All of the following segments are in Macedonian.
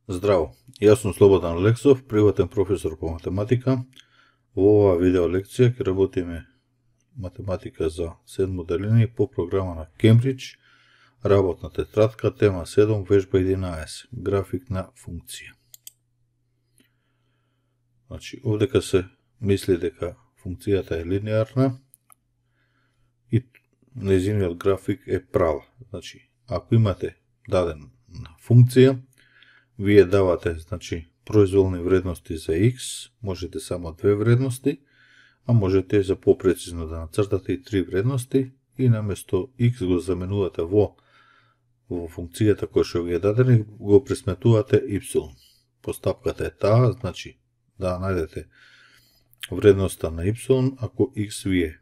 Здраво, јас сум Слободан Лексов, приватен професор по математика. Во оваа видео лекција ќе работиме математика за 7 деление по програма на Кембридж, работна тетрадка, тема 7, вежба 11, график на функција. Значи, овдека се мисли дека функцијата е линеарна и нејзиниот график е права. Значи, ако имате дадена функција, вие давате, значи, произволни вредности за x, можете само две вредности, а можете за попрецизно да нацртате и три вредности и наместо x го заменувате во функцијата која што ви е дадена и го пресметувате y. Постапката е таа, значи, да најдете вредноста на y, ако x ви е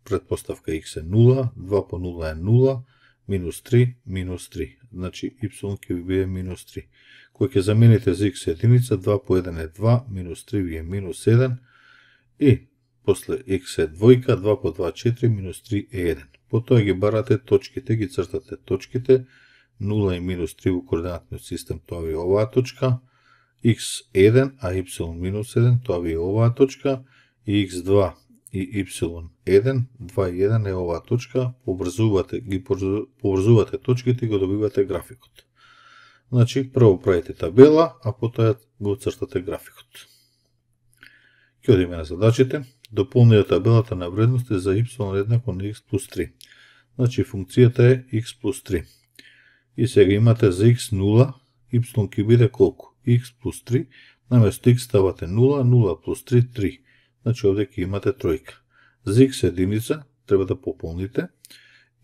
предпоставка x е 0, 2 по 0 е 0, минус 3, минус 3. Значи, y ќе ви биде минус 3. Кој ќе замените за x единица, 2 по 1 е 2, минус 3 ви е минус 1, и после x е двојка, 2 по 2 4, минус 3 е 1. Потоа ги барате точките, ги цртате точките, 0 и минус 3 во координатниот систем, тоа ви е оваа точка, x1, а y минус 1, тоа ви е оваа точка, и x2 и y1, 2 и 1 е оваа точка, поврзувате точките и го добивате графикот. Значи, прво правите табела, а потоа го цртате графикот. Ќе одиме на задачите. Дополнете табелата на вредности за y еднакво на x плюс 3. Значи, функцијата е x плюс 3. И сега имате за x0, y ќе биде колку? x плюс 3, наместо x ставате 0, 0 плюс 3, 3. Значи, овде ќе имате тројка. За x единица треба да пополните.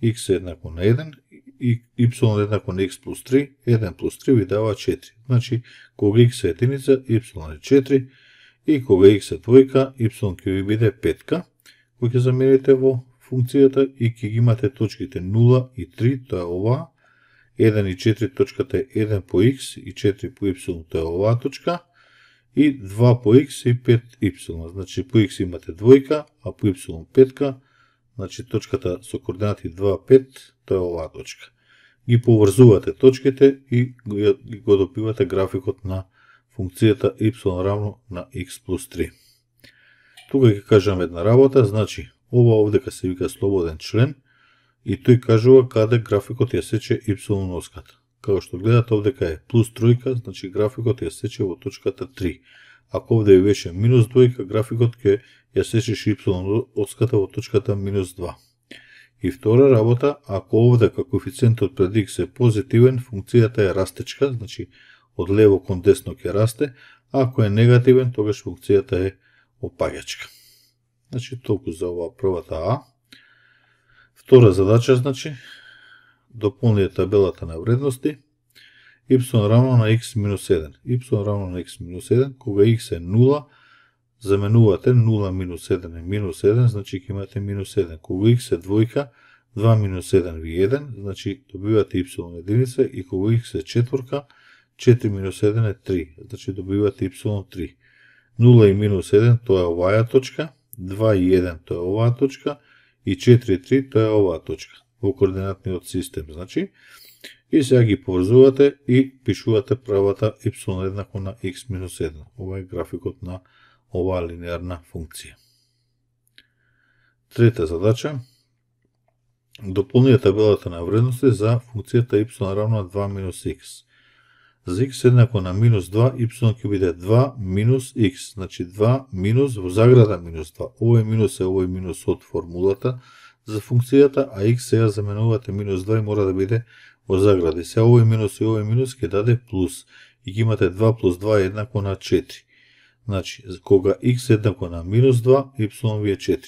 X еднакво на 1 и y еднакво на x плюс 3, 1 плюс 3 ви дава 4. Значи, кога x е единица, y е 4, и кога x е двојка, y ќе ви биде 5, кој ќе замените во функцијата и ќе ги имате точките 0 и 3, тоа е оваа, 1 и 4 точката е 1 по x и 4 по y, тоа е оваа точка, и 2 по x и 5 y. Значи, по x имате двојка, а по y 5, значи точката со координати 2, 5, тоа е оваа точка. Ги поврзувате точките и го добивате графикот на функцијата y равно на x плюс 3. Тука ќе кажам една работа, значи, ова овдека се вика слободен член и тој кажува каде графикот ја сече y оската. Како што гледате, овдека е плюс тројка, значи графикот ја сече во точката 3. Ако овде беше минус двојка, графикот ќе ја сечеш y оската во точката минус 2. И втора работа, ако овдека коефициентот пред x е позитивен, функцијата е растечка, значи од лево кон десно ќе расте, а ако е негативен, тогаш функцијата е опаѓачка. Значи, толку за оваа првата А. Втора задача, значи, дополнете табелата на вредности, y равно на x минус 1. Y равно на x минус 1, кога x е 0, заменувате 0 минус 1 е минус 1, значи ќе имате минус 1. Кога x е двојка, 2 минус 1 ви 1, значи добивате y единица, и кога x е четворка, 4 минус 1 е 3, значи добивате y 3. 0 и минус 1, тоа е оваа точка, 2 и 1, тоа е оваа точка, и 4 и 3, тоа е оваа точка, во координатниот систем, значи. И сега ги поврзувате и пишувате правата y еднакво на x минус 1. Ова е графикот на оваа линеарна функција. Трета задача. Дополнете табелата на вредности за функцијата y равно на 2 минус x. За x еднакво на минус 2, y ќе биде 2 минус x. Значи 2 минус во заграда минус 2. Овој минус од формулата за функцијата, а x сега заменувате минус 2 и мора да биде во загради. Сега овој минус ќе даде плюс. И ги имате 2 плюс 2 еднакво на 4. Значи, кога x еднакво на минус 2, y ви е 4.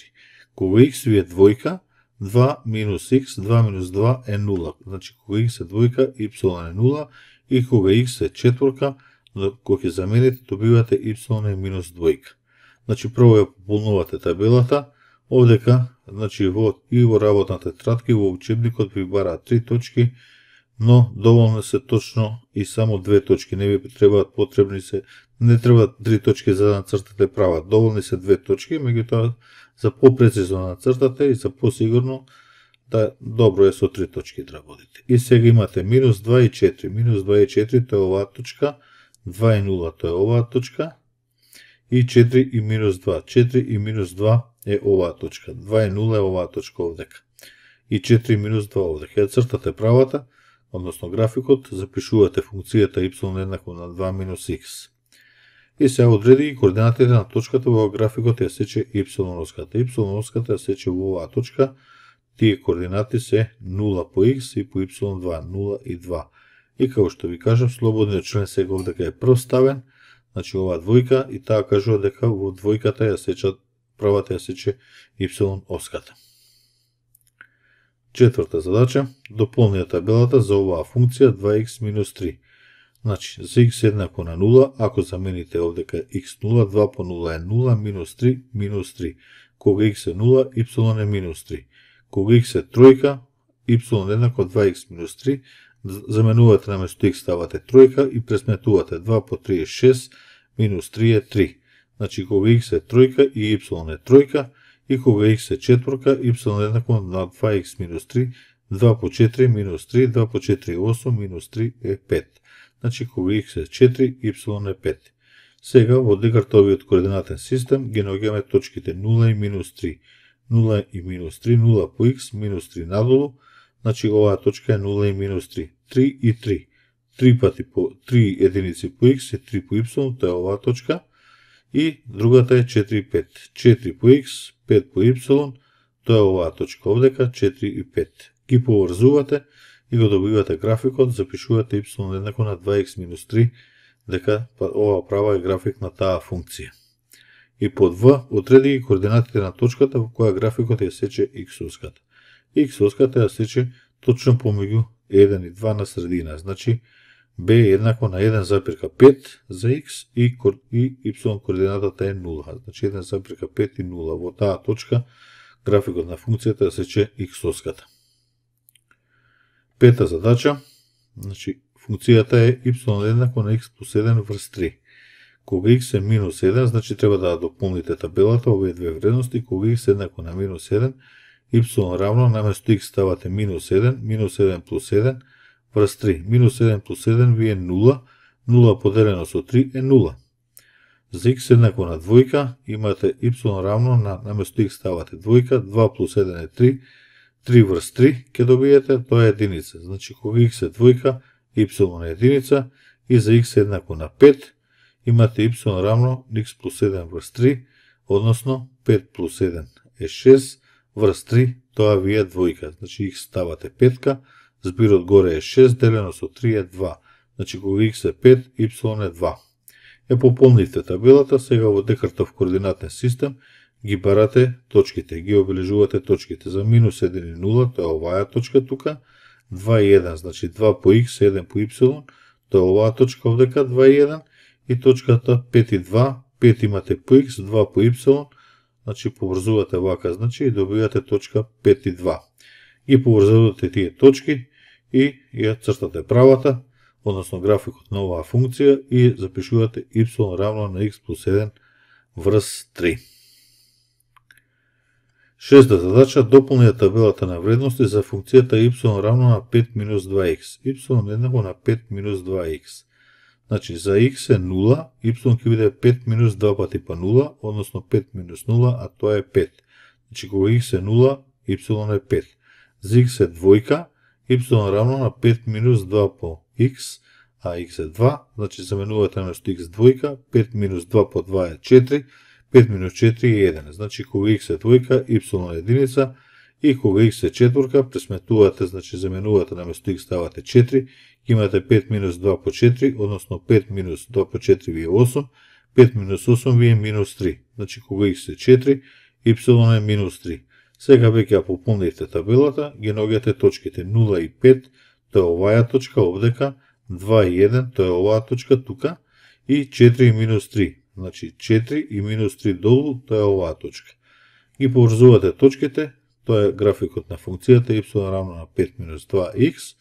Кога x ви е двојка, 2 минус x, 2 минус 2 е 0. Значи, кога x е двојка, y е 0, и кога x е четворка, кога ќе замените, добивате y е минус двојка. Значи, прво ја пополнувате табелата, овдека, значи, и во работната тетрадка, и во учебникот ви бараат 3 точки, но доволно се точно и само 2 точки, не ви требаат потребни се, не требаат 3 точки за да нацртате права, доволни се 2 точки, меѓутоа за попрецизно да нацртате и за посигурно, да добро е со 3 точки да работите. И сега имате минус 2 и 4, минус 2 и 4, тоа е оваа точка, 2 и 0 тоа е оваа точка, и 4 и минус 2. 4 и минус 2 е оваа точка. 2 и 0 е оваа точка овдека. И 4 и минус 2 овдека. Ја цртате правата, односно графикот, запишувате функцијата y еднакво на 2 минус x. И сега одреди ги координатите на точката во графикот ја сече y оската. Y оската ја сече во оваа точка, тие координати се 0 по x и по y2, 0 и 2. И како што ви кажам, слободниот член сега овдека е прв ставен, значи оваа двојка, и таа кажува дека во двојката ја сечат, правата ја сече y оската. Четврта задача, дополни табелата за оваа функција 2x минус 3. Значи, за x еднакво на 0, ако замените овдека x0, 2 по 0 е 0, минус 3, минус 3. Кога x е 0, y е минус 3. Кога x е тројка, y еднакво 2x минус 3, заменувате наместо x ставате тројка и пресметувате 2 по 3 е 6, минус 3 е 3. Значи, кога x е тројка и y е тројка, и кога x е четворка, y еднакво на 2x минус 3, 2 по 4 минус 3, 2 по 4 е 8, минус 3 е 5. Значи, кога x е 4, y е 5. Сега, во Декартовиот координатен систем, ги наоѓаме точките 0 и минус 3. 0 и минус 3, 0 по x, минус 3 надолу, значи оваа точка е 0 и минус 3. 3 и 3. 3 пати по 3 единици по x и 3 по y, тоа е оваа точка. И другата е 4 и 5. 4 по x, 5 по y, тоа е оваа точка овдека, 4 и 5. Ги поврзувате и го добивате графикот, запишувате y еднакво на 2x минус 3, дека ова права е график на таа функција. И под В, одреди ги координатите на точката во која графикот ја сече x оската. X оската ја сече точно помеѓу 1 и 2 на средина, значи b е еднакво на 1,5 за x и y координатата е 0, значи 1,5 и 0. Во таа точка графикот на функцијата ја сече x оската. Пета задача, значи функцијата е y еднакво на x плюс 1 врз 3. Кога x е минус 1, значи треба да дополните табелата овие две вредности. Кога x еднакво на минус 1, y равно наместо x ставате минус 1 плюс 1 врз 3. Минус 1 плюс 1 ви е 0, 0 поделено со 3 е 0. За x еднакво на двојка, имате y равно на наместо x ставате двојка, 2 плюс 1 е 3, 3 врз 3 ќе добиете, тоа е единица. Значи, кога x е двојка, y е единица, и за x еднакво на 5, имате y равно x плюс 7 врз 3, односно 5 плюс 1 е 6, врз 3, тоа ви е двојка. Значи, x ставате 5, збирот горе е 6, делено со 3 е 2. Значи, кога x е 5, y е 2. Е пополнивте табелата, сега во Декартов координатен систем, ги барате точките, ги обележувате точките. За минус 1 и 0, тоа е оваа точка тука, 2 и 1, значи 2 по x, 1 по y, тоа е оваа точка овдека, 2 и 1, и точката 5 и 2, 5 имате по x, 2 по y, значи поврзувате вака, значи и добивате точка 5 и 2. Ги поврзувате тие точки и ја цртате правата, односно графикот на оваа функција, и запишувате y равно на x плюс 1 врз 3. Шеста задача, дополни табелата на вредности за функцијата y равно на 5 минус 2x. Y еднакво на 5 минус 2x. Значи, за x е 0, y ќе биде 5 минус 2 пати па 0, односно 5 минус 0, а тоа е 5. Значи, кога x е 0, y е 5. За x е двојка, y равно на 5 минус 2 по x, а x е 2, значи заменувате наместо x двојка, 5 минус 2 по 2 е 4, 5 минус 4 е 1. Значи, кога x е двојка, y е единица, и кога x е четворка, пресметувате, значи заменувате наместо x ставате 4, имате 5 минус 2 по 4, односно 5 минус 2 по 4 ви е 8, 5 минус 8 ви е минус 3. Значи, кога x е 4, y е минус 3. Сега веќе ја пополнивте табелата, ги наоѓате точките 0 и 5, тоа е оваа точка овдека, 2 и 1, тоа е оваа точка тука, и 4 и минус 3. Значи 4 и минус 3 долу, тоа е оваа точка. Ги поврзувате точките, тоа е графикот на функцијата y равно на 5 минус 2x,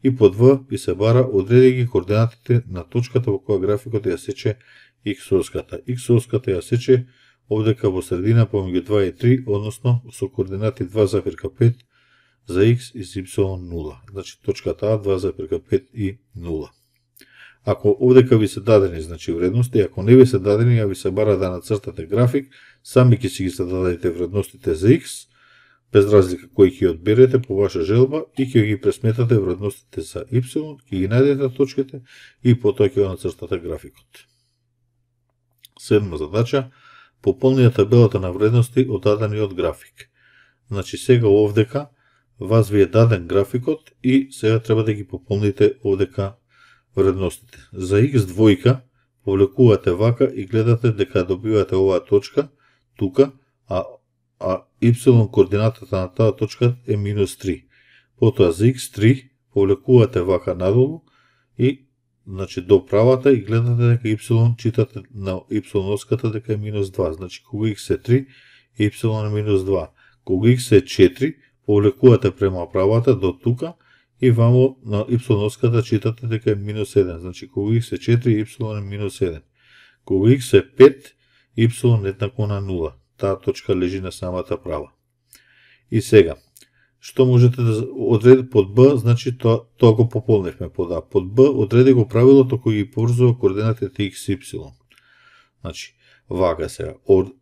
и под В и се бара одреди ги координатите на точката во која графикот ја сече x оската. X оската ја сече овдека во средина помеѓу 2 и 3, односно со координати 2,5 за x и y 0. Значи точката А 2,5 и 0. Ако овдека ви се дадени, значи вредности, ако не ви се дадени, ја ви се бара да нацртате график, сами ќе си ги зададете вредностите за X, без разлика кој ќе одберете по ваша желба и ќе ги пресметате вредностите за Y, ќе ги најдете точките и потоа ќе го нацртате графикот. Седма задача, пополнија табелата на вредности од дадениот график. Значи сега овдека вас ви е даден графикот и сега треба да ги пополните овдека вредностите. За X2 повлекувате вака и гледате дека добивате оваа точка тука, а Y координатата на таа точка е -3. Потоа за X3 повлекувате вака надолу и значи до правата и гледате дека Y читате на Y оската дека е -2. Значи кога X е 3, Y е -2. Кога X е 4, повлекувате према правата до тука и вамо на Y оската читате дека е -1. Значи кога X е 4, Y е -1. Кога X е 5, Y еднакво на 0. Таа точка лежи на самата права. И сега, што можете да одредите под Б, значи тоа го пополневме под А. Под Б одреди го правилото кој ги поврзува координатите X и Y. Значи, вака сега,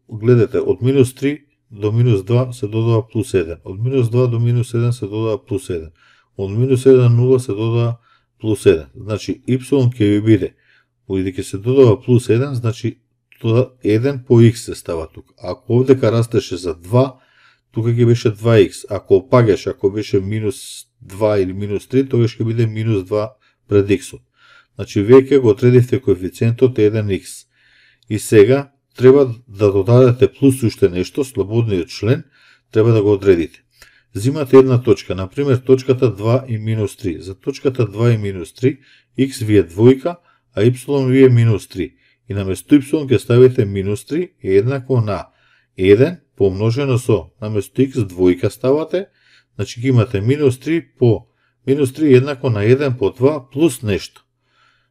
гледате, од -3 до -2 се додава +1. Од -2 до -1 се додава +1. Од -1 0 се додава +1. Значи, Y ќе ви биде, бидејќи се додава +1, значи тоа 1 по X се става тука. Ако овдека растеше за 2, тука ќе беше 2X. Ако опагаше, ако беше -2 или -3, тогаш ќе биде -2 пред X-от. Значи, веќе го одредивте коефициентот 1X. И сега, треба да додадете плюс уште нешто, слободниот член, треба да го одредите. Зимате една точка, например точката 2 и -3. За точката 2 и -3, X ви е двојка, а Y ви е -3. И наместо Y ќе ставите -3 е еднакво на 1 помножено со, наместо X двојка ставате, значи ги имате -3 по -3 е еднакво на 1 по 2 плюс нешто.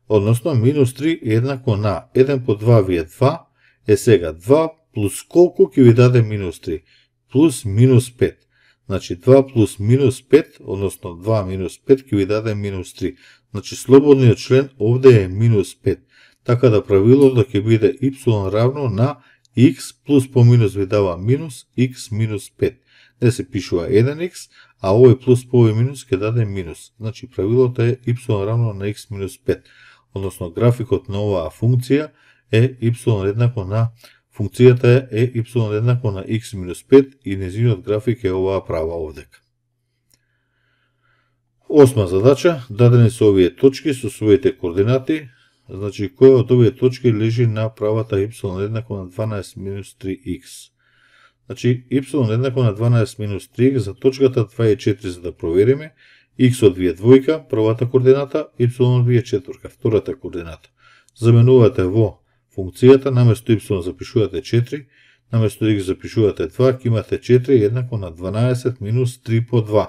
Односно, -3 е еднакво на 1 по 2 ви е 2, е сега 2 плюс колку ќе ви даде -3? Плюс -5. Значи 2 плюс -5, односно 2 -5 ќе ви даде -3. Значи слободниот член овде е -5. Така да правилото ќе биде Y равно на X плюс по минус ви дава минус X -5. Не се пишува 1X, а овој плюс по овој минус ќе даде минус. Значи правилото е Y равно на X -5. Односно графикот на оваа функција е Y еднакво на функцијата е Y еднакво на X -5 и незиниот график е оваа права овдека. Осма задача, дадени се овие точки со своите координати. Значи, која од овие точки лежи на правата Y еднакво на 12 - 3x? Значи, Y еднакво на 12 - 3x за точката 2 и 4 за да провериме. X од ви е двојка, првата координата, Y ви е четворка, втората координата. Заменувате во функцијата, наместо Y запишувате 4, наместо X запишувате 2, ќе имате 4 еднакво на 12 - 3 по 2.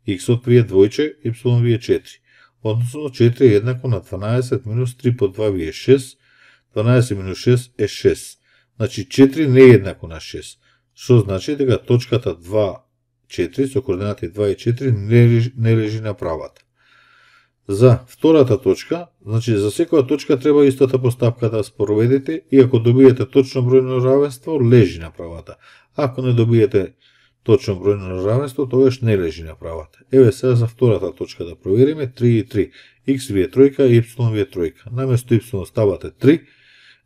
X од ви е двојче, Y ви е 4. Односно 4 е еднакво на 12 - 3 по 2 ви е 6, 12 - 6 е 6. Значи 4 не е еднакво на 6. Што значи дека точката 2, 4 со координати 2 и 4 не лежи на правата. За втората точка, значи за секоја точка треба истата постапка да спроведете и ако добиете точно бројно равенство, лежи на правата. Ако не добиете точно бројно равенство, тогаш не лежи на правата. Еве сега за втората точка да провериме 3 и 3. X ви е тројка, Y ви е тројка. Наместо Y ставате 3,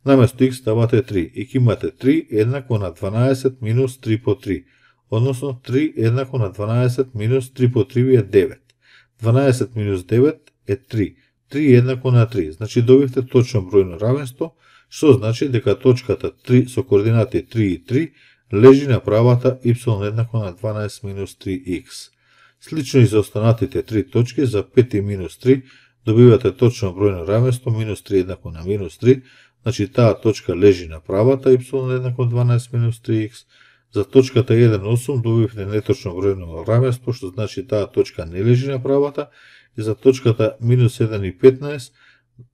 наместо X ставате 3. И ќе имате 3 еднакво на 12 - 3 по 3. Односно 3 еднакво на 12 - 3 по 3 ви е 9. 12 - 9 е 3. 3 еднакво на 3. Значи добивте точно бројно равенство, што значи дека точката 3 со координати 3 и 3 лежи на правата Y еднакво на 12 - 3x. Слично и за останатите 3 точки, за 5 и -3, добивате точно бројно равенство, -3 еднакво на -3, значи таа точка лежи на правата Y еднакво 12 - 3x. За точката 1,8 добивте неточно бројно равенство, што значи таа точка не лежи на правата, и за точката -1 и 15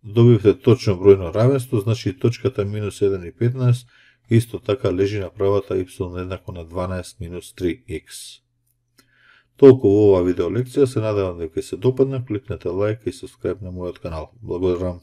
добивте точно бројно равенство, значи точката -1 и 15 исто така лежи на правата Y еднакво на 12 - 3x. Толку во оваа видео лекција, се надевам дека ќе се допадне, кликнете лајк и subscribe на мојот канал. Благодарам.